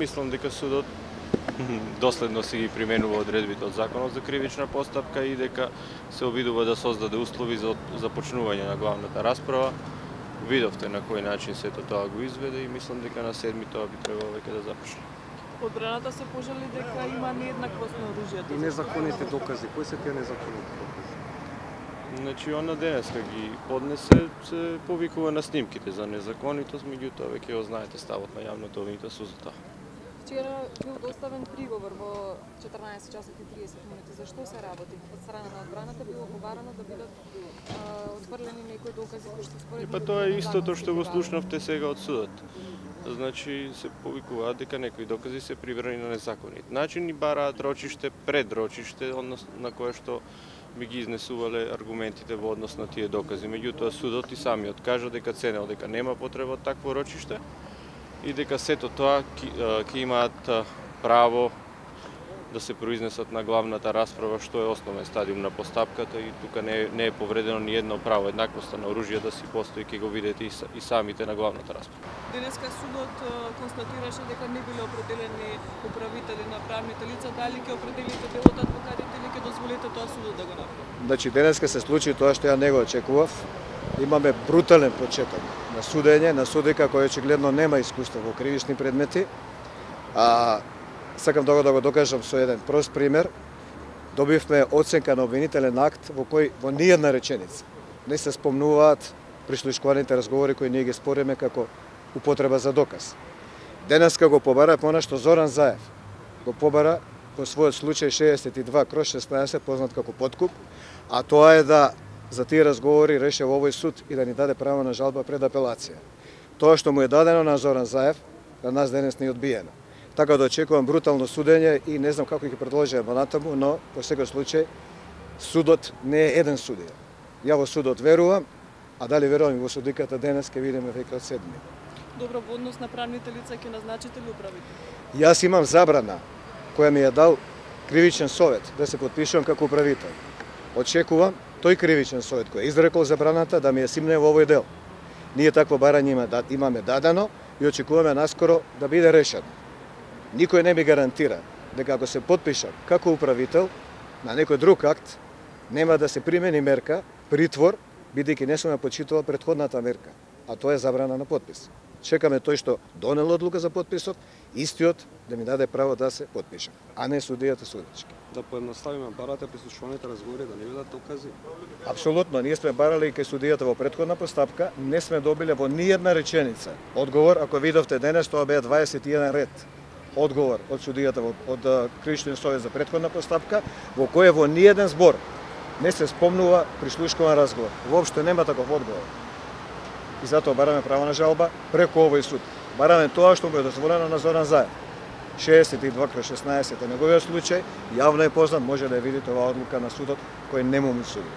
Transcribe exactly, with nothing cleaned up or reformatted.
Мислам дека судот доследно си ги применува одредбите од Законот за кривична постапка и дека се обидува да создаде услови за започнување на главната расправа. Видовте на кој начин сето тоа го изведе и мислам дека на седми тоа би требало веќе да започне. Одбраната се пожали дека има нееднаквост на оружјето. И незаконите докази. Кои се тие незаконите докази? Значи, она денеска ги поднесе, се повикува на снимките за незаконитост, меѓутоа веќе го знаете ставот на јавното обвинител со затоа. Вчера бил доставен приговор во четрнаесет часот и триесет минути. Зашто се работи? Од страна на одбраната било побарано да бидат отфрлени некои докази кои што според. И па тоа е истото што го слушнавте сега од судот. Значи се повикуваат дека некои докази се прибрани на незаконит начин и бараат рочиште пред рочиште, однос на кое што би ги изнесувале аргументите во однос на тие докази. Меѓутоа судот и самиот кажа дека ценел дека нема потреба од такво рочиште и дека сето тоа ќе имаат право да се произнесат на главната расправа, што е основен стадиум на постапката и тука не, не е повредено ни едно право. Еднаквоста на оружје да си постои, ќе го видите и самите на главната расправа. Денеска судот констатираше дека не биле определени управители на правните лица, дали ќе определите делот адвокатите или ќе дозволите тоа судот да го направи? Значи денеска се случи тоа што ја не го очекував. Имаме брутален почеток на судење, на судека кој очигледно нема искуство во кривични предмети. А сакам да го, да го докажам со еден прост пример. Добивме оценка на обвинителен акт во кој во ниједна реченица не се спомнуваат прислушкуваните разговори кои ние ги спориме како употреба за доказ. Денеска го побара она што Зоран Заев го побара по својот случај шеесет и два кроз шеснаесет, познат како подкуп, а тоа е да за тие разговори реше во овој суд и да ни даде право на жалба пред апелација. Тоа што му е дадено на Зоран Заев, на нас денес не е одбиено. Така да очекувам брутално судење и не знам како ќе продолжиме натаму, но во секој случај судот не е еден судија. Ја во судот верувам, а дали верувам и во судиката денес ќе видиме веќе од седми. Добро, во однос на правните лица ќе назначите ли управител? Јас имам забрана која ми ја дал кривичен совет да се потпишувам како управител. Очекувам тој кривичен совет кој е изрекол забраната да ми ја симне во овој дел. Ние такво барање имаме дадено и очекуваме наскоро да биде решено. Никој не ми гарантира дека ако се потпишам како управител на некој друг акт, нема да се примени мерка, притвор, бидејќи не сум ја почитувал претходната мерка, а тоа е забрана на потпис. Чекаме тој што донел одлука за потписот, истиот да ми даде право да се потпишам, а не судијата судечки. Да поедноставиме, барате прислушуваните разговори да не бидат докази? Апсолутно, ние сме барали и кај судијата во претходна постапка, не сме добиле во ниједна реченица одговор. Ако видовте денес, тоа беа дваесет и еден ред одговор од судијата од Кривичниот совет за претходна постапка, во кој во ниеден збор не се спомнува прислушкуван разговор. Воопшто нема таков одговор. И затоа бараме право на жалба преку овој суд. Бараме тоа што му е дозволено на Зоран Заев. шеесет и два кроз шеснаесет е неговиот случај, јавно е познат, може да ја видите оваа одлука на судот кој не му му суди.